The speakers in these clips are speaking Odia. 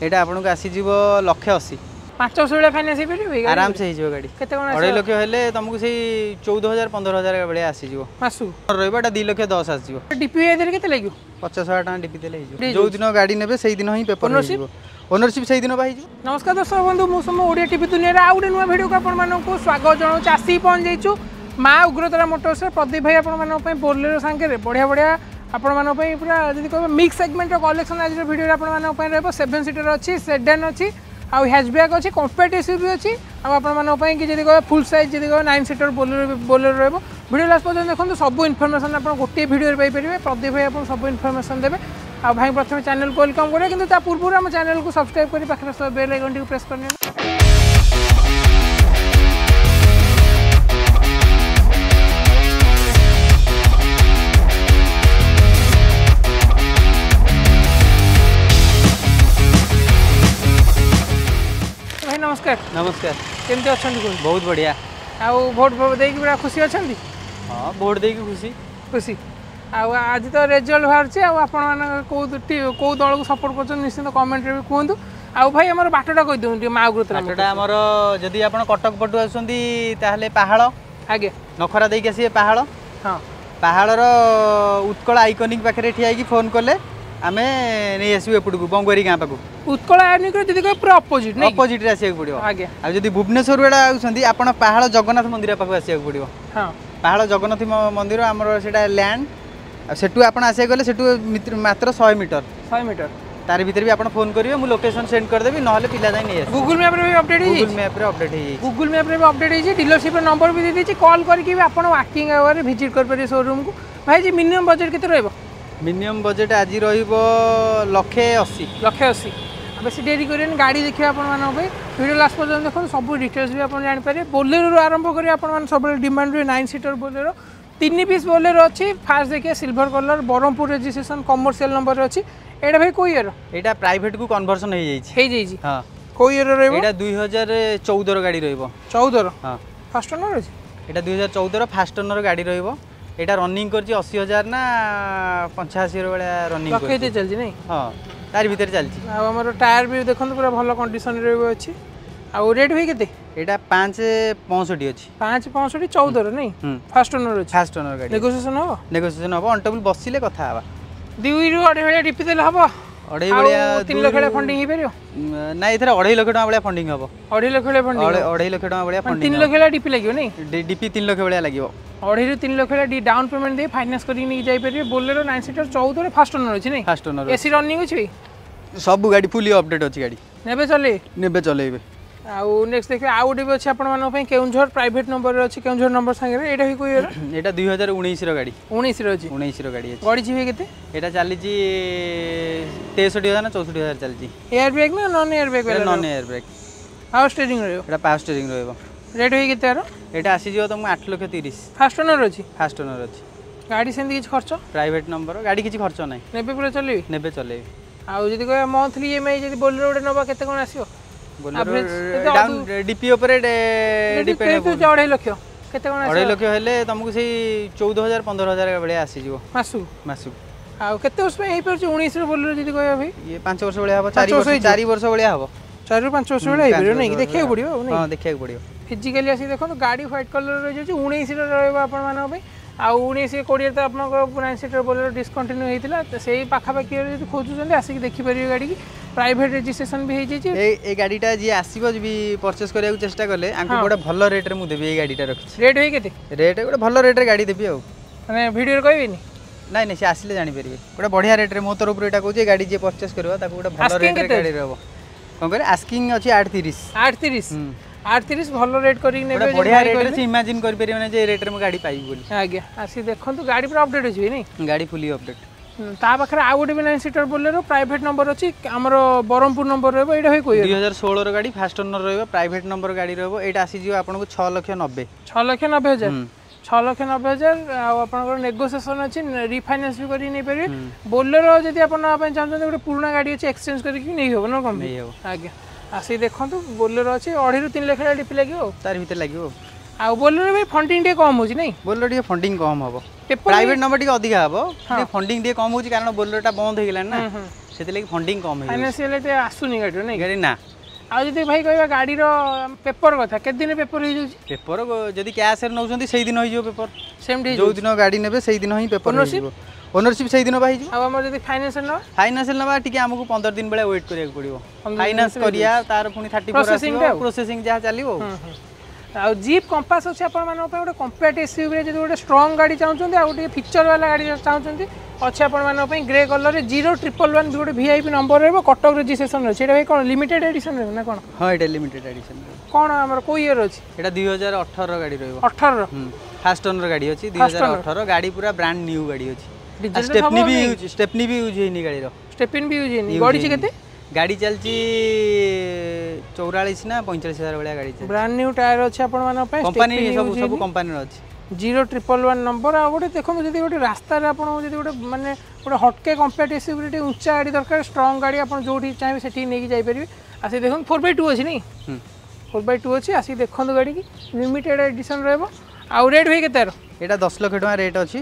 ଏଇଟା ଆପଣଙ୍କୁ ଆସିଯିବ 1 ଲକ୍ଷ 80। 5 ବର୍ଷ ଭଳିଆ ଫାଇନାନ୍ସ ହେଇପାରିବ ଏଇ ଗାଡ଼ି? ଆରାମସେ ହେଇଯିବ ଗାଡ଼ି। କେତେ କ'ଣ? 2.5 ଲକ୍ଷ ହେଲେ ତମକୁ ସେଇ 14,000 15,000 ଭଳିଆ ଆସିଯିବ। ମାସକୁ? ରହିବ ଏଇଟା 2 ଲକ୍ଷ 10 ଆସିଯିବ। ଡିପି ଦେଲେ କେତେ ଲାଗିବ? 50,000 ଟଙ୍କା ଡିପି ଦେଲେ ହେଇଯିବ। ହେଇଯିବ। ଯୋଉ ଦିନ ଗାଡ଼ି ନେବେ, ସେଇ ଦିନ ହିଁ ପେପର Ownership? ହେଇଯିବ। ଓନରସିପ୍ ସେଇଦିନ ବା ହେଇଯିବ। ନମସ୍କାର ଦର୍ଶକ ବନ୍ଧୁ, ମୁଁ ସମ ଓଡ଼ିଆ ଟିଭି ଦୁନିଆରେ ଆଉ ଗୋଟେ ନୂଆ ଭିଡ଼ିଓକୁ ଆପଣମାନଙ୍କୁ ସ୍ୱାଗତ ଜଣାଉଛି। ଆସିକି ପହଞ୍ଚି ଯାଇଛୁ ମା ଉଗ୍ରତାରା ମୋଟର୍ସରେ। ପ୍ରଦୀପ ଭାଇ ଆପଣମାନଙ୍କ ପାଇଁ ବୋଲେରୋ ସାଙ୍ଗରେ ବଢ଼ିଆ ବଢ଼ିଆ ଆପଣମାନଙ୍କ ପାଇଁ ପୁରା ଯଦି କହିବ ମିକ୍ସ ସେଗମେଣ୍ଟର କଲେକ୍ସନ୍ ଆଜିର ଭିଡ଼ିଓରେ ଆପଣମାନଙ୍କ ପାଇଁ ରହିବ। ସେଭେନ୍ ସିଟର ଅଛି, ସେଡାନ୍ ଅଛି, ଆଉ ହ୍ୟାଚବ୍ୟାକ୍ ଅଛି, କମ୍ପାକ୍ଟ ଏସ୍ୟୁଭି ଅଛି, ଆଉ ଆପଣମାନଙ୍କ ପାଇଁ କି ଯଦି କହିବେ ଫୁଲ୍ ସାଇଜ୍, ଯଦି କହିବେ ନାଇନ୍ ସିଟର ବୋଲେରୋ, ବୋଲେରୋ ରହିବ। ଭିଡ଼ିଓ ଲାଷ୍ଟ ପର୍ଯ୍ୟନ୍ତ ଦେଖନ୍ତୁ, ସବୁ ଇନଫର୍ମେସନ୍ ଆପଣ ଗୋଟିଏ ଭିଡ଼ିଓରେ ପାଇପାରିବେ। ପ୍ରଦୀପ ଭାଇ ଆପଣ ସବୁ ଇନଫର୍ମେସନ୍ ଦେବେ। ଆଉ ଭାଇ ପ୍ରଥମେ ଚ୍ୟାନେଲକୁ welcome କରିବେ, କିନ୍ତୁ ତା ପୂର୍ବରୁ ଆମ ଚ୍ୟାନେଲକୁ ସବସ୍କ୍ରାଇବ୍ କରି ପାଖରେ ବେଲ୍ ଆଇକନ୍ଟିକୁ ପ୍ରେସ୍ କରିନିଅନ୍ତୁ। ଭାଇ ନମସ୍କାର। ନମସ୍କାର। କେମିତି ଅଛନ୍ତି କୁହନ୍ତୁ? ବହୁତ ବଢ଼ିଆ। ଆଉ ଭୋଟ ଫୋଟ ଦେଇକି ପୁରା ଖୁସି ଅଛନ୍ତି? ହଁ, ଭୋଟ ଦେଇକି ଖୁସି। ଖୁସି। ଆଉ ଆଜି ତ ରେଜଲ୍ଟ ବାହାରୁଛି, ଆଉ ଆପଣମାନେ କେଉଁ ଦଳକୁ ସପୋର୍ଟ କରୁଛନ୍ତି ନିଶ୍ଚିନ୍ତ କମେଣ୍ଟରେ ବି କୁହନ୍ତୁ। ଆଉ ଭାଇ, ଆମର ବାଟଟା କହିଦିଅନ୍ତୁ ଟିକେ, ମା ଉଗ୍ରତାରା। ବାଟଟା ଆମର, ଯଦି ଆପଣ କଟକ ପଟୁ ଆସୁଛନ୍ତି ତାହେଲେ ପାହାଳ, ନଖରା ଦେଇକି ଆସିବେ ପାହାଳ। ପାହାଳର ଉତ୍କଳ ଆଇକନିକ୍ ପାଖରେ ଠିଆ ହେଇକି ଫୋନ୍ କଲେ ଆମେ ନେଇ ଆସିବୁ ଏପଟକୁ, ବଙ୍ଗୁଆରୀ ଗାଁ ପାଖକୁ। ଉତ୍କଳ ଆଇକନିକ୍ର ଯଦି କହିବେ ପୁରା ଅପୋଜିଟ୍ ନାଇଁ କି? ଅପୋଜିଟ୍ରେ ଆସିବାକୁ ପଡ଼ିବ। ଆଉ ଯଦି ଭୁବନେଶ୍ୱର ବେଳା ଆସୁଛନ୍ତି ଆପଣ, ପାହାଳ ଜଗନ୍ନାଥ ମନ୍ଦିର ପାଖକୁ ଆସିବାକୁ ପଡ଼ିବ। ପାହାଳ ଜଗନ୍ନାଥ ମନ୍ଦିର ଆମର ସେଇଟା ଲ୍ୟାଣ୍ଡ। ଆଉ ସେଠୁ ଆପଣ ଆସିବାକୁ ଗଲେ ସେଠୁ ମାତ୍ର 100 ମିଟର। 100 ମିଟର। ତାରି ଭିତରେ ବି ଆପଣ ଫୋନ୍ କରିବେ, ମୁଁ ଲୋକେସନ୍ ସେଣ୍ଡ କରିଦେବି, ନହେଲେ ପିଲା ଯାଇ ନେଇ ଆସିବେ। ଗୁଗୁଲ ମ୍ୟାପ୍ରେ ବି ଅପଡେଟ୍ ଗୁଗୁଲ ହେଇଯାଇଛି? ମ୍ୟାପ୍ରେ ଅପଡେଟ୍ ହେଇଯାଇଛି। ଗୁଗୁଲ ମ୍ୟାପ୍ରେ ବି ଅପଡେଟ୍ ହେଇଛି, ଡିଲରସିପ୍ର ନମ୍ବର ବି ଦେଇଦେଇଛି। କଲ୍ କରିକି ବି ଆପଣ ୱାର୍କିଂ ଆୱାରରେ ଭିଜିଟ୍ କରିପାରିବେ ସୋରୁମ୍କୁ। ଭାଇ, ଯେ ମିନିମମ୍ ବଜେଟ୍ କେତେ ରହିବ? ମିନିମମ୍ ବଜେଟ୍ ଆଜି ରହିବ 1 ଲକ୍ଷେ 80। 1 ଲକ୍ଷ 80। ଆଉ ବେଶୀ ଡେରି କରିବେନି, ଗାଡ଼ି ଦେଖିବେ ଆପଣମାନଙ୍କ ପାଇଁ। ଭିଡ଼ିଓ ଲାଷ୍ଟ ପର୍ଯ୍ୟନ୍ତ ଦେଖନ୍ତୁ, ସବୁ ଡିଟେଲ୍ସ ବି ଆପଣ ଜାଣିପାରିବେ। ବୋଲେରୋରୁ ଆରମ୍ଭ କରି ଆପଣମାନେ ସବୁବେଳେ ଡିମାଣ୍ଡ ରୁହେ ନାଇନ୍ ସିଟର ବୋଲେରୋ। ତିନି ପିସ୍ ବୋଲେରୋ ଅଛି। ଫାର୍ଷ୍ଟ ଦେଖିବେ silver colour, Brahmapur registration, commercial ନମ୍ବରରେ ଅଛି। ଏଇଟା ଭାଇ କୋଉ ଇୟର? ଏଇଟା ପ୍ରାଇଭେଟକୁ କନଭର୍ସନ ହେଇଯାଇଛି। ହେଇଯାଇଛି? ହଁ। କୋଉ ଇୟର ରହିବ? ଏଇଟା 2014ର ଗାଡ଼ି ରହିବ। 14ର? ହଁ। ଫାର୍ଷ୍ଟ ଓନର ଅଛି? ଏଇଟା 2014ର ଫାଷ୍ଟ ଓନର ଗାଡ଼ି ରହିବ। ଏଇଟା ରନିଂ କରିଛି 80,000 ନା 85ର ଭଳିଆ ରନିଂ ଲକ୍ଷେ କରିଛି। ଚାଲିଛି ନାଇଁ? ହଁ, ତାରି ଭିତରେ ଚାଲିଛି। ଆଉ ଆମର ଟାୟାର ବି ଦେଖନ୍ତୁ, ପୁରା ଭଲ କଣ୍ଡିସନରେ ବି ଅଛି। ଆଉ ରେଟ୍ ଭାଇ କେତେ? ଏଇଟା 5.65 ଅଛି। 5.65, 14ର ନାଇଁ? ହୁଁ। ଫାର୍ଷ୍ଟ ଓନର ଅଛି? ଫାଷ୍ଟ ଓନର ଗାଡ଼ି। ନେଗୋସିଏସନ୍ ହବ? ନେଗୋସିଏସନ ହବ, ଅନ୍ ଟେବୁଲ ବସିଲେ କଥା ହବା। 2ରୁ 2.5 ଭଳିଆ ଡିପି ଦେଲେ ହବ? ଅଢ଼େଇ ଆଉ ଭଳିଆ। 3 ଲକ୍ଷ ଭଳିଆ ଫଣ୍ଡିଂ ହେଇପାରିବ? ନାଇଁ, ଏଥିରେ 2.5 ଲକ୍ଷ ଟଙ୍କା ଭଳିଆ ଫଣ୍ଡିଂ ହବ। 2.5 ଲକ୍ଷ ଭଳିଆ ଫଣ୍ଡିଂ? 2.5 ଲକ୍ଷ ଟଙ୍କା ଭଳିଆ ଫଣ୍ଡିଂ। 3 ଲକ୍ଷ ଭଳିଆ ଡିପି ଲାଗିବ ନାଇଁ? ଡିପି 3 ଲକ୍ଷ ଭଳିଆ ଲାଗିବ। 2.5ରୁ 3 ଲକ୍ଷ ଭଳିଆ ଡାଉନ୍ ପେମେଣ୍ଟ ଦେଇ ଫାଇନାନ୍ସ କରିକି ନେଇକି ଯାଇପାରିବେ। ବୋଲେରୋ ନାଇନ୍ ସିଟର, 14ରେ, ଫାର୍ଷ୍ଟ ଓନର ଅଛି ନାଇଁ? First owner. ଏସି ରନିଂ ଅଛି ଭାଇ? ସବୁ ଗାଡ଼ି ଫୁଲି ଅପଡେଟ୍ ଅଛି ଗାଡ଼ି। ନେବେ ଚଲେଇ? ନେବେ ଚଲେଇବେ। ଆଉ ନେକ୍ସଟ ଦେଖିବେ, ଆଉ ଗୋଟେ ବି ଅଛି ଆପଣମାନଙ୍କ ପାଇଁ। କେଉଁଝର ପ୍ରାଇଭେଟ୍ ନମ୍ବରରେ ଅଛି, କେଉଁଝର ନମ୍ବର ସାଙ୍ଗରେ। ଏଇଟା ବି କୋଉ ଇୟର? ଏଇଟା 2019ର ଗାଡ଼ି। 19ରେ ଅଛି? 19ର ଗାଡ଼ି ଅଛି। ଗଡ଼ିଛି ଭାଇ କେତେ? ଏଇଟା ଚାଲିଛି 63,000 ନା 64,000 ଚାଲିଛି। ଏୟାର ବ୍ୟାଗ୍ ନା non air bag? Non air bag. Power steering ରହିବ? ଏଇଟା ପାୱାର ଷ୍ଟିୟରିଂ ରହିବ। ରେଟ୍ ଭାଇ କେତେ ଆର? ଏଇଟା ଆସିଯିବ ତମକୁ 8 ଲକ୍ଷ 30। ଫାର୍ଷ୍ଟ ଓନର ଅଛି? ଫାଷ୍ଟ ଓନର ଅଛି। ଗାଡ଼ି ସେମିତି କିଛି ଖର୍ଚ୍ଚ? ପ୍ରାଇଭେଟ୍ ନମ୍ବର ଗାଡ଼ି, କିଛି ଖର୍ଚ୍ଚ ନାହିଁ। ନେବେ ପୁରା ଚଲେଇବେ? ନେବେ ଚଲେଇବେ। ଆଉ ଯଦି କହିବା ମନ୍ଥଲି ଇଏମ୍ଆଇ, ଯଦି ବୋଲେରୋ ଗୋଟେ ନେବା କେତେ କ'ଣ ଆସିବ? Average କେତେ? ଡାଉନ୍ ଡିପି ଉପରେ ଡିପେଣ୍ଡ। 2.5 ଲକ୍ଷ କେତେ କ'ଣ ଆସିବ? 2.5 ଲକ୍ଷ ହେଲେ ତମକୁ ସେଇ 14,000 15,000 ଭଳିଆ ଆସିଯିବ। ମାସକୁ? ମାସକୁ। ଆଉ କେତେ ବର୍ଷ ପାଇଁ ହେଇପାରୁଛି 19ର ବୋଲେରୋ ଯଦି କହିବା ଭାଇ? ଇଏ 5 ବର୍ଷ ଭଳିଆ ହବ, 4 ବର୍ଷ ବର୍ଷ। ହେଇଯିବ? 4 ବର୍ଷ ଭଳିଆ ହବ। 4ରୁ 5 ବର୍ଷ ଭଳିଆ ହେଇପାରିବ ନାଇଁ କି? 5 ବର୍ଷ। ଦେଖିବାକୁ ପଡ଼ିବ ଆଉ ନାଇଁ? ହଁ, ଦେଖିବାକୁ ପଡ଼ିବ। ଫିଜିକାଲି ଆସିକି ଦେଖନ୍ତୁ। ଗାଡ଼ି ହ୍ୱାଇଟ୍ କଲର୍ ରହିଯାଉଛି, 19ରେ ରହିବ ଆପଣମାନଙ୍କ ପାଇଁ। ଆଉ 19 20ରେ ତ ଆପଣଙ୍କର ନାଇନ୍ ସିଟର ବୋଲେରୋ ଡିସକଣ୍ଟିନ୍ୟୁ ହେଇଥିଲା। ତ ସେଇ ପାଖାପାଖି ଯଦି ଖୋଜୁଛନ୍ତି, ଆସିକି ଦେଖିପାରିବେ ଗାଡ଼ିକି। ପ୍ରାଇଭେଟ୍ ରେଜିଷ୍ଟ୍ରେସନ ବି ହେଇଯାଇଛି। ଏଇ ଗାଡ଼ିଟା ଯିଏ ଆସିବ ବି ପରଚେସ୍ କରିବାକୁ ଚେଷ୍ଟା କଲେ, ଆଙ୍କୁ ଗୋଟେ ଭଲ ରେଟ୍ରେ ମୁଁ ଦେବି। ଏଇ ଗାଡ଼ିଟା ରଖିଛି। ରେଟ୍ ଭାଇ କେତେ? ରେଟ୍ ଗୋଟେ ଭଲ ରେଟ୍ରେ ଗାଡ଼ି ଦେବି ଆଉ। ମାନେ ଭିଡ଼ିଓରେ କହିବେନି? ନାଇଁ ନାଇଁ, ସେ ଆସିଲେ ଜାଣିପାରିବେ। ଗୋଟେ ବଢ଼ିଆ ରେଟ୍ରେ ମୋ ତରଫରୁ ଏଇଟା କହୁଛି, ଏ ଗାଡ଼ି ଯିଏ ପରଚେସ୍ କରିବ ତାକୁ ଗୋଟେ ଭଲ Asking ରେଟ୍ରେ କେତେ? ଗାଡ଼ି ରହିବ। କ'ଣ କହିଲେ? ଆସ୍କିଂ ଅଛି 8.30। 8.30? 8.30, ଭଲ ରେଟ୍ କରିକି ନେବେ ଗୋଟେ ଯଦି ବଢ଼ିଆ ଭାଇ ରେଟ୍ରେ କହିଲେ। ସେ ଇମାଜିନ୍ କରିପାରିବେନି ଯେ ଏ ରେଟ୍ରେ ମୁଁ ଗାଡ଼ି ପାଇବି ବୋଲି। ଆଜ୍ଞା, ଆସିକି ଦେଖନ୍ତୁ। ଗାଡ଼ି ପୁରା ଅପଡେଟ୍ ଅଛି ଭାଇ ନାଇଁ? ଗାଡ଼ି ଫୁଲି ଅପଡେଟ୍। ତା ପାଖରେ ଆଉ ଗୋଟେ B nine ସିଟର Bolero, private number ଅଛି, ଆମର ବ୍ରହ୍ମପୁର ନମ୍ବର ରହିବ। ଏଇଟା ଭାଇ କୋଉ? 2016ର ଗାଡ଼ି, ଫାଷ୍ଟ ଓନର ରହିବ, ପ୍ରାଇଭେଟ୍ ନମ୍ବର ଗାଡ଼ି ରହିବ। ଏଇଟା ଆସିଯିବ ଆପଣଙ୍କୁ 6 ଲକ୍ଷ 90। 6 ଲକ୍ଷ 90 ହଜାର? 6 ଲକ୍ଷ 90 ହଜାର। ଆଉ ଆପଣଙ୍କର ନେଗୋସିଏସନ୍ ଅଛି, ରିଫାଇନାନ୍ସ ବି କରିକି ନେଇପାରିବେ। ବୋଲେରୋ ଯଦି ଆପଣ ନେବା ପାଇଁ ଚାହୁଁଛନ୍ତି, ଗୋଟେ ପୁରୁଣା ଗାଡ଼ି ଅଛି, ଏକ୍ସଚେଞ୍ଜ କରିକି ନେଇ ହେବ ନା କ'ଣ? ନେଇ ହେବ। ଆଜ୍ଞା, ଆସିକି ଦେଖନ୍ତୁ। ବୋଲେରୋ ଅଛି, 2.5ରୁ 3 ଲକ୍ଷ ଡିପି ଲାଗିବ ଆଉ। ତାରି ଭିତରେ ଲାଗିବ। ଆଉ ବୋଲେରୋ ବି ଫଣ୍ଡିଂ ଟିକେ କମ୍ ହେଉଛି ନାଇଁ? ବୋଲେରୋ ଟିକେ ଫଣ୍ଡିଂ କମ୍ ହେବ। ପେପର ପ୍ରାଇଭେଟ୍ ନମ୍ବର ଟିକେ ଅଧିକା ହେବ, ଟିକେ ଫଣ୍ଡିଂ ଟିକେ କମ୍ ହେଉଛି, କାରଣ ବୋଲେରୋଟା ବନ୍ଦ ହେଇଗଲାଣି ନା। ସେଥିଲାଗି ଫଣ୍ଡିଂ କମ୍ ହେଇଯାଉଛି। ଫାଇନାନ୍ସିଆଲ ଏତେ ଆସୁନି ଗାଡ଼ିର ନାଇଁ? ଗାଡ଼ି ନା। ଆଉ ଯଦି ଭାଇ କହିବା ଗାଡ଼ିର ପେପର କଥା, କେତେ ଦିନ ପେପର ହେଇଯାଉଛି? ପେପର ଯଦି କ୍ୟାସ୍ରେ ନେଉଛନ୍ତି, ସେଇଦିନ ହେଇଯିବ ପେପର। ସେମିତି? ଯୋଉ ଦିନ ଗାଡ଼ି ନେବେ, ସେଇଦିନ ହିଁ ପେପର ହେଇଯିବ। ଓନରସିପ୍ ସେଇଦିନ ବା ହେଇଯିବ। ଆଉ ଆମର ଯଦି ଫାଇନାନ୍ସ ନେବା? ଫାଇନାନ୍ସ ନେବା, ଟିକେ ଆମକୁ 15 ଦିନ ଭଳିଆ ୱେଟ୍ କରିବାକୁ ପଡ଼ିବ। ଫାଇନାନ୍ସ କରିବା, ତାର ପୁଣି 34 ଆସିବ, ପ୍ରୋସେସିଂ ଯାହା ଚାଲିବ। ଆଉ ଜିପ୍ କମ୍ପାସ୍ ଅଛି ଆପଣମାନଙ୍କ ପାଇଁ, ଗୋଟେ କମ୍ପାକ୍ଟ ଏସ୍ୟୁଭିରେ ଯଦି ଗୋଟେ ଷ୍ଟ୍ରଙ୍ଗ ଗାଡ଼ି ଚାହୁଁଛନ୍ତି ଆଉ ଟିକେ ଫିଚର ବାଲା ଗାଡ଼ି ଚାହୁଁଛନ୍ତି, ଅଛି ଆପଣମାନଙ୍କ ପାଇଁ। ଗ୍ରେ କଲରରେ 0111 ବି ଗୋଟେ ଭିଆଇପି ନମ୍ବର ରହିବ, କଟକ ରେଜିଷ୍ଟ୍ରେସନ ଅଛି। ଏଇଟା ଭାଇ କ'ଣ ଲିମିଟେଡ୍ ଏଡିସନ୍ ରହିବ ନା କ'ଣ? ହଁ, ଏଇଟା ଲିମିଟେଡ୍ ଏଡିସନ୍। କ'ଣ ଆମର କେଉଁ ଇୟର ଅଛି? ଏଇଟା 2018 ଗାଡ଼ି ରହିବ। 18ର? ଫାଷ୍ଟ ଓନର ଗାଡ଼ି ଅଛି, 2018 ଗାଡ଼ି, ପୁରା ବ୍ରାଣ୍ଡ ନ୍ୟୁ ଗାଡ଼ି ଅଛି। ଷ୍ଟେପନି ବି ୟୁଜ୍, ଷ୍ଟେପନି ବି ୟୁଜ୍ ହେଇନି ଗାଡ଼ିର। ଷ୍ଟେପିନ୍ ବି ୟୁଜ୍ ହେଇନି। ଗଡ଼ିଛି କେତେ? ଗାଡ଼ି ଚାଲିଛି 44 ନା 45 ହଜାର ଭଳିଆ ଗାଡ଼ି ଚାଲିଛି। ବ୍ରାଣ୍ଡ ନ୍ୟୁ ଟାୟାର ଅଛି ଆପଣମାନଙ୍କ ପାଇଁ। କମ୍ପାନୀ ସବୁ, ସବୁ କମ୍ପାନୀର ଅଛି। 0111 ନମ୍ବର। ଆଉ ଗୋଟେ ଦେଖନ୍ତୁ, ଯଦି ଗୋଟେ ରାସ୍ତାରେ ଆପଣଙ୍କୁ ଯଦି ଗୋଟେ ମାନେ ଗୋଟେ ହଟକେ କମ୍ପାକ୍ଟ ଏସ୍ୟୁଭି ଟିକେ ଉଞ୍ଚା ଗାଡ଼ି ଦରକାର, ଷ୍ଟ୍ରଙ୍ଗ ଗାଡ଼ି, ଆପଣ ଯେଉଁଠି ଚାହିଁବେ ସେଠିକି ନେଇକି ଯାଇପାରିବେ। ଆସିକି ଦେଖନ୍ତୁ। 4x2 ଅଛି ନାଇଁ? 4x2 ଅଛି। ଆସିକି ଦେଖନ୍ତୁ ଗାଡ଼ିକି, ଲିମିଟେଡ୍ ଏଡିସନ୍ ରହିବ। ଆଉ ରେଟ୍ ଭାଇ କେତେ? ଏଇଟା 10 ଲକ୍ଷ ଟଙ୍କା ରେଟ୍ ଅଛି,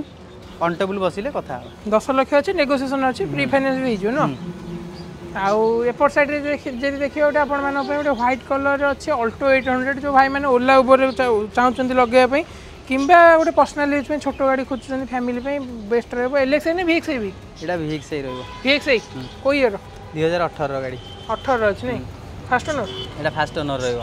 ଅନ୍ ଟେବୁଲ୍ ବସିଲେ କଥା ହେବ। 10 ଲକ୍ଷ ଅଛି, ନେଗୋସିଏସନ୍ ଅଛି, ପ୍ରି ଫାଇନାନ୍ସ ବି ହେଇଯିବ ନା? ଆଉ ଏପଟ ସାଇଡ଼୍ରେ ଯଦି ଦେଖିବେ, ଗୋଟେ ଆପଣମାନଙ୍କ ପାଇଁ ଗୋଟେ ହ୍ୱାଇଟ୍ କଲର୍ର ଅଛି ଅଲ୍ଟୋ 800। ଯେଉଁ ଭାଇମାନେ ଓଲା ଉବରରେ ଚାହୁଁଛନ୍ତି ଲଗେଇବା ପାଇଁ କିମ୍ବା ଗୋଟେ ପର୍ସନାଲ ୟୁଜ୍ ପାଇଁ ଛୋଟ ଗାଡ଼ି ଖୋଜୁଛନ୍ତି, ଫ୍ୟାମିଲି ପାଇଁ ବେଷ୍ଟ ରହିବ। ଏଲ୍ ଏକ୍ସ I ନା ଭି ଏକ୍ସ I ବି? ଏଇଟା ଭି ଏକ୍ସ I ରହିବ। ଭି ଏକ୍ସ I, କେଉଁ ଇୟର? 2018ର ଗାଡ଼ି। 18ର ଅଛି ନାଇଁ? First owner? ଏଇଟା ଫାଷ୍ଟ ଓନର ରହିବ।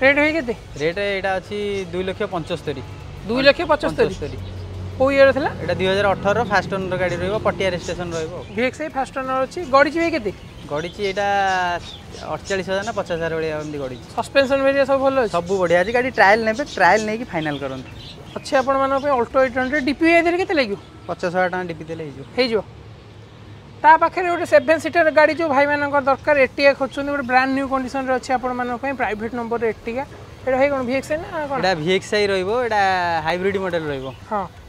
ରେଟ୍ ଭାଇ କେତେ? ରେଟ୍ ଏଇଟା ଅଛି 2 ଲକ୍ଷ 75। 2 ଲକ୍ଷ 75। କେଉଁ ଇୟର ଥିଲା? ଏଇଟା 2018ର, ଫାଷ୍ଟ ଓନର ଗାଡ଼ି ରହିବ, ପଟିଆ ରେଜିଷ୍ଟ୍ରେସନ ରହିବ। V X I, first owner ଅଛି। ଗଡ଼ିଛି ଭାଇ କେତେ? ଗଡ଼ିଛି ଏଇଟା 48 ହଜାର ନା 50 ହଜାର ଭଳିଆ ଏମିତି ଗଡ଼ିଛି। ସସ୍ପେନ୍ସନ୍ ଭେରିଆ ସବୁ ଭଲ ଅଛି? ସବୁ ବଢ଼ିଆ ଅଛି। ଗାଡ଼ି ଟ୍ରାଏଲ୍ ନେବେ, ଟ୍ରାଏଲ୍ ନେଇକି ଫାଇନାଲ୍ କରନ୍ତୁ। ଅଛି ଆପଣମାନଙ୍କ ପାଇଁ ଅଲ୍ଟୋ 800। ଡିପି ଏଥିରେ କେତେ ଲାଗିବ? 50 ହଜାର ଟଙ୍କା ଡିପି ଦେଲେ ହେଇଯିବ। ହେଇଯିବ। ତା ପାଖରେ ଗୋଟେ 7 ସିଟର ଗାଡ଼ି ଯେଉଁ ଭାଇମାନଙ୍କର ଦରକାର, ଏର୍ଟିଗା ଖୋଜୁଛନ୍ତି, ଗୋଟେ ବ୍ରାଣ୍ଡ ନ୍ୟୁ କଣ୍ଡିସନରେ ଅଛି ଆପଣମାନଙ୍କ ପାଇଁ, ପ୍ରାଇଭେଟ୍ ନମ୍ବର ଏର୍ଟିଗା। ଏଇଟା ଭାଇ କ'ଣ ଭିଏକ୍ସ ନା କ'ଣ? ଏଇଟା ଭିଏକ୍ସଆଇ ରହିବ, ଏଇଟା ହାଇବ୍ରିଡ୍ ମଡେଲ ରହିବ।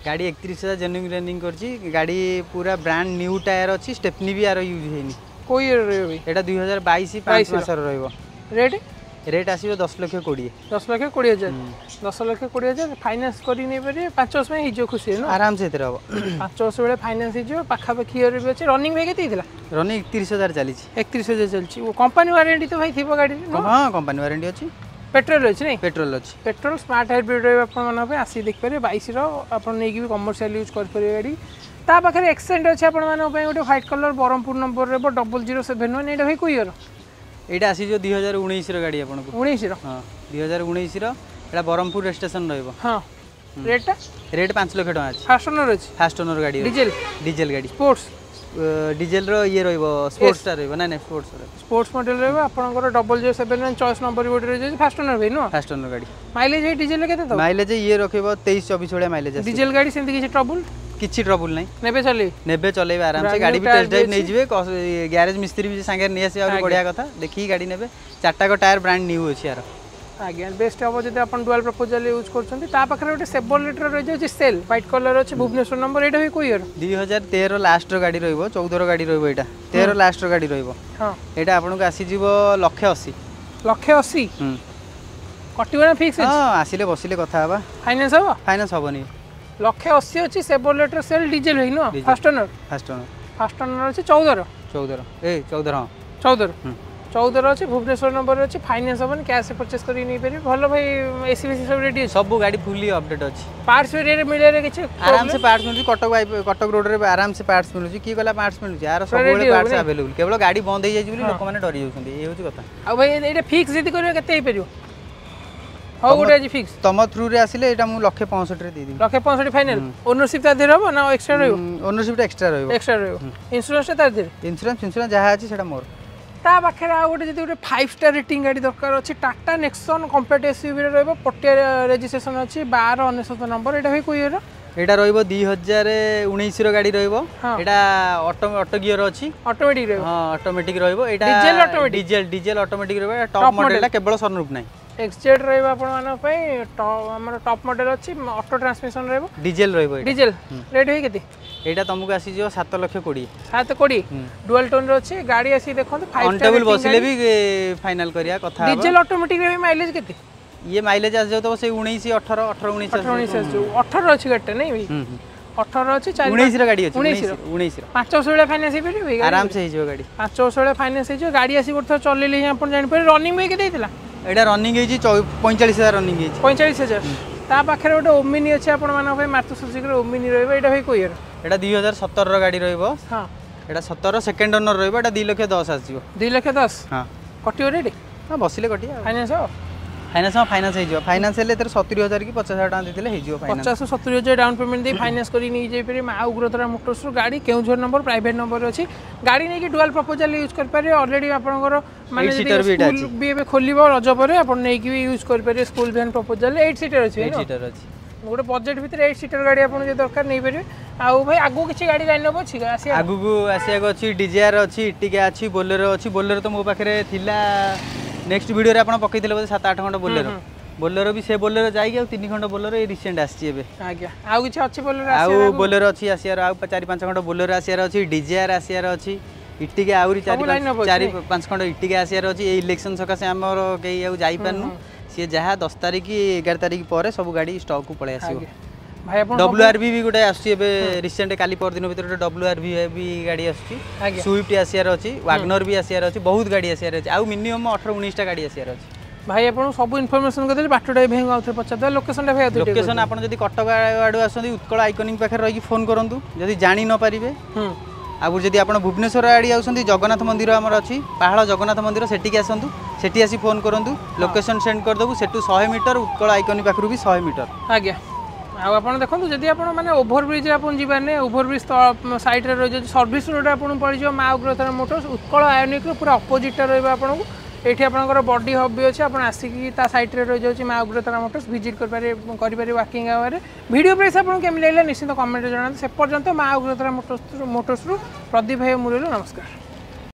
ଗାଡ଼ି 31 ହଜାର ଜେନ୍ୟୁନ୍ ରନିଂ କରିଛି। ଗାଡ଼ି ପୁରା ବ୍ରାଣ୍ଡ ନ୍ୟୁ ଟାୟାର ଅଛି, ଷ୍ଟେପନି ବି ଆର ୟୁଜ୍ ହେଇନି। କେଉଁ ଇୟର ରହିବ ଭାଇ? ଏଇଟା 2022, 5 ମାସର ରହିବ। ରେଟ୍? ରେଟ୍ ଆସିବ 10 ଲକ୍ଷ 20। 10 ଲକ୍ଷ 20 ହଜାର। 10 ଲକ୍ଷ 20 ହଜାର, ଫାଇନାନ୍ସ କରି ନେଇପାରିବେ। 5 ବର୍ଷ ପାଇଁ ହେଇଯିବ ଖୁସି? ଆରାମସେ ଏଥିରେ ହେବ। 5 ବର୍ଷ ବେଳେ ଫାଇନାନ୍ସ ହେଇଯିବ। ପାଖାପାଖି ଇୟର ବି ଅଛି। ରନିଂ ଭାଇ କେତେ ହେଇଥିଲା? ରନିଂ 31 ହଜାର ଚାଲିଛି। 31 ହଜାର ଚାଲିଛି। କମ୍ପାନୀ ୱାରେଣ୍ଟି ତ ଭାଇ ଥିବ ଗାଡ଼ିରେ? ହଁ, କମ୍ପାନୀ ୱାରେଣ୍ଟି ଅଛି। ପେଟ୍ରୋଲ ଅଛି ନାଇଁ? ପେଟ୍ରୋଲ ଅଛି। ପେଟ୍ରୋଲ, ସ୍ମାର୍ଟ ହାଇବ୍ରିଡ୍ ରହିବ ଆପଣମାନଙ୍କ ପାଇଁ। ଆସିକି ଦେଖିପାରିବେ। 22ର, ଆପଣ ନେଇକି ବି କମର୍ସିଆଲ ୟୁଜ୍ କରିପାରିବେ ଗାଡ଼ି। ତା ପାଖରେ ଏକ୍ସେଣ୍ଟ ଅଛି ଆପଣମାନଙ୍କ ପାଇଁ, ଗୋଟେ ହ୍ୱାଇଟ୍ କଲର୍, ବ୍ରହ୍ମପୁର ନମ୍ବର ରହିବ, 0071। ଏଇଟା ଭାଇ କେଉଁ ଇୟର? ଏଇଟା ଆସିଯିବ 2019ର ଗାଡ଼ି ଆପଣଙ୍କୁ। 19ର? ହଁ, 2019ର। ଏଇଟା ବ୍ରହ୍ମପୁର ରେଜିଷ୍ଟ୍ରେସନ ରହିବ। ହଁ, ରେଟ୍ଟା? ରେଟ୍ 5 ଲକ୍ଷ ଟଙ୍କା ଅଛି। ଫାଷ୍ଟ ଓନର ଅଛି? ଫାଷ୍ଟ ଓନର ଗାଡ଼ି। ଡିଜେଲ? ଡିଜେଲ ଗାଡ଼ି। ସ୍ପୋର୍ଟସ? ଡିଜେଲର ଇଏ ରହିବ, ସ୍ପୋର୍ଟସଟା ରହିବ। ନାଇଁ ନାଇଁ, ସ୍ପୋର୍ଟସ ରହିବ। ସ୍ପୋର୍ଟସ ମଡେଲ ରହିବ ଆପଣଙ୍କର। 0071 ଚଏସ୍ ନମ୍ବର ଗୋଟେ ରହିଯାଉଛି। ଫାଷ୍ଟ ଓନର ଭାଇ ନୁହଁ? ଫାଷ୍ଟ ଓନର ଗାଡ଼ି। ମାଇଲେଜ ଭାଇ ଡିଜେଲ କେତେ ଦେବ? ମାଇଲେଜ ଇଏ ରଖିବ 23 24 ଭଳିଆ ମାଇଲେଜ। ଡିଜେଲ ଗାଡ଼ି, ସେମିତି କିଛି ଟ୍ରବୁଲ? କିଛି ଟ୍ରବୁଲ ନାହିଁ। ନେବେ ଚଲେଇବେ? ନେବେ, ଚଲେଇବେ ଆରାମସେ। ଗାଡ଼ି ବି ଟେଷ୍ଟ ଡ୍ରାଇଭ୍ ନେଇଯିବେ, ଗ୍ୟାରେଜ ମିସ୍ତ୍ରୀ ବି ସାଙ୍ଗରେ ନେଇ ଆସିବେ, ଆହୁରି ବଢ଼ିଆ କଥା। ଦେଖିକି ଗାଡ଼ି ନେବେ। ଚାରିଟାକ ଟାୟାର ବ୍ରାଣ୍ଡ ନ୍ୟୁ ଅଛି ଆର। ଆଜ୍ଞା, ବେଷ୍ଟ ହେବ ଯଦି ଆପଣ ଡୁଆଲ୍ ପର୍ପୋଜ୍ ୟୁଜ୍ କରୁଛନ୍ତି। ତା ପାଖରେ ଗୋଟେ ସେଭରଲେଟ୍ର ରହିଯାଉଛି ସେଲ୍, ହ୍ୱାଇଟ୍ କଲର୍ ଅଛି, ଭୁବନେଶ୍ୱର ନମ୍ବର। ଏଇଟା ବି କେଉଁ ଇୟର? 2013 ଲାଷ୍ଟର ଗାଡ଼ି ରହିବ, 14ର ଗାଡ଼ି ରହିବ। ଏଇଟା 13 ଲାଷ୍ଟର ଗାଡ଼ି ରହିବ। ଏଇଟା ଆପଣଙ୍କୁ ଆସିଯିବ ଲକ୍ଷେ 80। ଲକ୍ଷେ 80? କଟିବ ନା ଫିକ୍ସ? ହଁ, ଆସିଲେ ବସିଲେ କଥା ହେବା। ଫାଇନାନ୍ସ ହେବ? ଫାଇନାନ୍ସ ହେବନି। ଲକ୍ଷେ 80 ଅଛି ସେଭରଲେଟ୍ର ସେଲ୍, ଡିଜେଲ ହେଇ ନୁହଁ? First owner? First owner. First owner ଅଛି, 14ର? 14, ଏ 14, ହଁ। 14, 14ର ଅଛି, ଭୁବନେଶ୍ୱର ନମ୍ବର ଅଛି। ଫାଇନାନ୍ସ ହେବନି, କ୍ୟାସ୍ ପରଚେସ୍ କରିକି ନେଇପାରିବେ। ଭଲ ଭାଇ, ଏସି ଫେସି ସବୁ ରେଡ଼ି ଅଛି? ସବୁ ଗାଡ଼ି ଫୁଲି ଅପଡେଟ୍ ଅଛି। ପାର୍ଟସ ଏରିଆରେ ମିଳିବାରେ କିଛି? ଆରାମସେ ପାର୍ଟସ ମିଳୁଛି। କଟକ, କଟକ ରୋଡରେ ଆରାମସେ ପାର୍ଟସ ମିଳୁଛି। କିଏ କହିଲା ପାର୍ଟସ ମିଳୁଛି? ଆର ସବୁବେଳେ ପାର୍ଟସ ଆଭେଲେବୁଲ୍। କେବଳ ଗାଡ଼ି ବନ୍ଦ ହେଇଯାଇଛି ବୋଲି ଲୋକମାନେ ଡରି ଯାଉଛନ୍ତି, ଏଇ ହେଉଛି କଥା। ଆଉ ଭାଇ, ଏଇଟା ଫିକ୍ସ ଯଦି କରିବେ କେତେ ହେଇପାରିବ? ହଉ, ଗୋଟେ ଆଜି ଫିକ୍ସ। ତମ ଥ୍ରୁରେ ଆସିଲେ ଏଇଟା ମୁଁ ଲକ୍ଷେ 65ରେ ଦେଇଦେବି। ଲକ୍ଷେ 65 ଫାଇନାଲ। ଓନରସିପ୍ ତା ଦେହରେ ହବ ନା ଏକ୍ସଟ୍ରା ରହିବ? ଓନରସିପ୍ଟା ଏକ୍ସଟ୍ରା ରହିବ। ଏକ୍ସଟ୍ରା ରହିବ। ଇନ୍ସୁରାନ୍ସଟା ତା ଦେହରେ? ଇନ୍ସୁରାନ୍ସ ଯାହା ଅଛି ସେଇଟା ମୋର। ତା ପାଖରେ ଆଉ ଗୋଟେ ଯଦି ଗୋଟେ 5 ଷ୍ଟାର ରେଟିଂ ଗାଡ଼ି ଦରକାର ଅଛି, ଟାଟା ନେକ୍ସନ୍ କମ୍ପାକ୍ଟ ଏସ୍ୟୁଭିରେ ରହିବ, ପଟିଆ ରେଜିଷ୍ଟ୍ରେସନ ଅଛି, 1299 ନମ୍ବର। ଏଇଟା ଭାଇ କେଉଁ ଇୟର? ଏଇଟା ରହିବ 2019ର ଗାଡ଼ି ରହିବ। ଏଇଟା ଅଟୋ ଅଟୋ ଗିଅର ଅଛି। ଅଟୋମେଟିକ୍ ରହିବ? ହଁ, ଅଟୋମେଟିକ୍ ରହିବ ଏଇଟା। Diesel automatic? Diesel, diesel automatic ରହିବ। ଟପ୍ ମଡେଲଟା, କେବଳ ସନରୁଫ୍ ନାହିଁ। ଏକ୍ସଜେଡ୍ ରହିବ ଆପଣମାନଙ୍କ ପାଇଁ, ଆମର ଟପ୍ ମଡେଲ ଅଛି, ଅଟୋ ଟ୍ରାନ୍ସମିସନ୍ ରହିବ। ଡିଜେଲ ରହିବ। ଡିଜେଲ। ରେଟ୍ ଭାଇ କେତେ? ଏଇଟା ତମକୁ ଆସିଯିବ 7 ଲକ୍ଷ 20। 7 20, ଡୁଆଲ ଟୋନ୍ରେ ଅଛି ଗାଡ଼ି। ଆସିକି ଦେଖନ୍ତୁ। ଅନ୍ ଟେବୁଲ୍ ବସିଲେ ବି ଫାଇନାଲ କରିବା କଥା। ଡିଜେଲ ଅଟୋମେଟିକ୍ ମାଇଲେଜ କେତେ? ଇଏ ମାଇଲେଜ ଆସିଯାଉଥିବ ସେଇ 19, 18, 18, 19। 18 19 ଆସିଯିବ। 18 ଅଛି ଗାଡ଼ିଟା ନାଇଁ ଭାଇ? 18 ଅଛି, 4 19ର ଗାଡ଼ି ଅଛି। 19ର? 19ର। 5 ବର୍ଷ ଭଳିଆ ଫାଇନାନ୍ସ ହେଇପାରିବ ଏଇ ଗାଡ଼ି? ଆରାମସେ ହେଇଯିବ ଗାଡ଼ି। 5 ବର୍ଷ ଭଳିଆ ଫାଇନାନ୍ସ ହେଇଯିବ ଗାଡ଼ି। ଆସି ଗୋଟେ ଥର ଚଲେଇଲେ ହିଁ ଆପଣ ଜାଣିପାରିବେ। ରନିଂ ବି କେତେ ହେଇଥିଲା? ଏଇଟା ରନିଂ ହେଇଛି 45,000 ରନିଂ ହେଇଛି। 45,000। ତା ପାଖରେ ଗୋଟେ ଓମିନି ଅଛି ଆପଣମାନଙ୍କ ପାଇଁ, ମାରୁତି ସୁଜୁକିର ଓମିନି ରହିବ। ଏଇଟା ଭାଇ କୋଉ ଇୟର? ଏଇଟା 2017ର ଗାଡ଼ି ରହିବ। ଏଇଟା 17, ସେକେଣ୍ଡ ଓନର ରହିବ। ଏଇଟା 2 ଲକ୍ଷ 10 ଆସିଯିବ। 2 ଲକ୍ଷ 10? ହଁ। କଟିବ ରେଟ୍? ହଁ, ବସିଲେ କଟିବ। ଫାଇନାନ୍ସ ହବ? ଫାଇନାନ୍ସ, ହଁ, ଫାଇନାନ୍ସ ହେଇଯିବ। ଫାଇନାନ୍ସ ହେଲେ ଏଥିରେ 70,000 କି 50,000 ଟଙ୍କା ଦେଇଦେଲେ ହେଇଯିବ ଫାଇନାନ୍ସ। 50-70 ହଜାର ଡାଉନ୍ ପେମେଣ୍ଟ ଦେଇ ଫାଇନାନ୍ସ କରି ନେଇଯାଇପାରିବେ ମା ଉଗ୍ରତାରା ମୋଟର୍ସରୁ ଗାଡ଼ି। କେଉଁଝର ନମ୍ବର, ପ୍ରାଇଭେଟ୍ ନମ୍ବର ଅଛି। ଗାଡ଼ି ନେଇକି ଡୁଆଲ୍ ପର୍ପୋଜାଲ ୟୁଜ୍ କରିପାରିବେ। ଅଲରେଡ଼ି ଆପଣଙ୍କର ମାନେ Eight seater ବି ଏଇଟା ସ୍କୁଲ ବି ଏବେ ଖୋଲିବ ରଜ ପରେ, ଆପଣ ନେଇକି ବି ୟୁଜ୍ କରିପାରିବେ ସ୍କୁଲ ଭ୍ୟାନ୍ ପର୍ପୋଜାଲ। 8 ସିଟର ଅଛି? 8 ସିଟର ଅଛି। ଗୋଟେ ବଜେଟ୍ ଭିତରେ 8 ସିଟର ଗାଡ଼ି ଆପଣଙ୍କୁ ଯଦି ଦରକାର ନେଇପାରିବେ। ଆଉ ଭାଇ, ଆଗକୁ କିଛି ଗାଡ଼ି ଲାଇନ୍ ଅପ୍ ଅଛି ଆସିବା? ଆଗକୁ ଆସିବାକୁ ଅଛି, ଡିଜାୟାର ଅଛି, ଇଟିକା ଅଛି, ବୋଲେରୋ ଅଛି। ବୋଲେରୋ ତ ମୋ ପାଖରେ ଥିଲା, ନେକ୍ସଟ ଭିଡ଼ିଓରେ ଆପଣ ପକେଇଥିଲେ ବୋଧେ 7-8 ଖଣ୍ଡ ବୋଲେରୋ। ବୋଲେରୋ ବି ସେ ବୋଲେରୋ ଯାଇକି ଆଉ ତିନି ଖଣ୍ଡ ବୋଲେରୋ ଏଇ ରିସେଣ୍ଟ ଆସିଛି ଏବେ। ଆଜ୍ଞା, ଆଉ କିଛି ଅଛି ବୋଲେରୋ? ଆଉ ବୋଲେରୋ ଅଛି ଆସିବାର, ଆଉ 4-5 ଖଣ୍ଡ ବୋଲେରୋ ଆସିବାର ଅଛି। ଡିଜାୟାର ଆସିବାର ଅଛି, ଇଟିକା ଆହୁରି ଚାରି line up ଅଛି। 4-5 ଖଣ୍ଡ ଇଟିକା ଆସିବାର ଅଛି। ଏଇ ଇଲେକ୍ସନ ସକାଶେ ଆମର କେହି ଆଉ ଯାଇପାରୁନୁ। ସିଏ ଯାହା 10 ତାରିଖ 11 ତାରିଖ ପରେ ସବୁ ଗାଡ଼ି ଷ୍ଟକ୍କୁ ପଳେଇ ଆସିବ। ଆଜ୍ଞା ଭାଇ, ଆପଣ ଡବ୍ଲ୍ୟୁ ଆର୍ ଭି ବି ଗୋଟେ ଆସୁଛି ଏବେ ରିସେଣ୍ଟ, କାଲି ପରଦିନ ଭିତରେ ଗୋଟେ ଡବ୍ଲ୍ୟୁ ଆର୍ ଭି ବି ଗାଡ଼ି ଆସୁଛି। ସୁଇଫ୍ଟ ଆସିବାର ଅଛି, ୱାଗନର ବି ଆସିବାର ଅଛି, ବହୁତ ଗାଡ଼ି ଆସିବାର ଅଛି। ଆଉ ମିନିମମ୍ 18-19ଟା ଗାଡ଼ି ଆସିବାର ଅଛି। ଭାଇ, ଆପଣଙ୍କୁ ସବୁ ଇନଫର୍ମେସନ୍ କରିଦେଲି। ବାଟଟା ବି ଭାଇଙ୍କୁ ଆଉଥରେ ପଚାରିଦେବା, ଲୋକେସନଟା ଭାଇ ଆଉଥରେ ଟିକେ। ଲୋକେସନ, ଆପଣ ଯଦି କଟକ ଆଡ଼ୁ ଆସନ୍ତି, ଉତ୍କଳ ଆଇକନିକ୍ ପାଖରେ ରହିକି ଫୋନ୍ କରନ୍ତୁ ଯଦି ଜାଣି ନ ପାରିବେ। ଆଉ ଯଦି ଆପଣ ଭୁବନେଶ୍ୱର ଆଡ଼ି ଆସୁଛନ୍ତି, ଜଗନ୍ନାଥ ମନ୍ଦିର ଆମର ଅଛି, ପାହାଳ ଜଗନ୍ନାଥ ମନ୍ଦିର, ସେଠିକି ଆସନ୍ତୁ। ସେଠି ଆସି ଫୋନ୍ କରନ୍ତୁ, ଲୋକେସନ୍ ସେଣ୍ଡ କରିଦେବୁ। ସେଠୁ 100 ମିଟର, ଉତ୍କଳ ଆଇକନିକ୍ ପାଖରୁ ବି 100 ମିଟର। ଆଜ୍ଞା, ଆଉ ଆପଣ ଦେଖନ୍ତୁ, ଯଦି ଆପଣ ମାନେ ଓଭରବ୍ରିଜ୍ରେ ଆପଣ ଯିବାର ନାହିଁ, ଓଭରବ୍ରିଜ୍ ସାଇଡ଼୍ରେ ରହିଯାଉଛି, ସର୍ଭିସ୍ ରୋଡ଼ରେ ଆପଣଙ୍କୁ ପଡ଼ିଯିବ ମା ଉଗ୍ରତାରା ମୋଟର୍ସ। ଉତ୍କଳ ଆୟନିକ୍ର ପୁରା ଅପୋଜିଟ୍ଟା ରହିବ ଆପଣଙ୍କୁ। ଏଇଠି ଆପଣଙ୍କର ବଡି ହବ୍ ବି ଅଛି। ଆପଣ ଆସିକି ତା ସାଇଡ଼୍ରେ ରହିଯାଉଛି ମା ଉଗ୍ରତାରା ମୋଟର୍ସ, ଭିଜିଟ୍ କରିପାରିବେ ୱାକିଂ ଆୱାରରେ। ଭିଡ଼ିଓ ପ୍ରାଇସ୍ ଆପଣଙ୍କୁ କେମିତି ଲାଗିଲା ନିଶ୍ଚିତ କମେଣ୍ଟରେ ଜଣାନ୍ତୁ। ସେ ପର୍ଯ୍ୟନ୍ତ ମା ଉଗ୍ରତାରା ମୋଟର୍ସରୁ ପ୍ରଦୀପ ଭାଇ, ମୁଁ ରହିଲୁ, ନମସ୍କାର।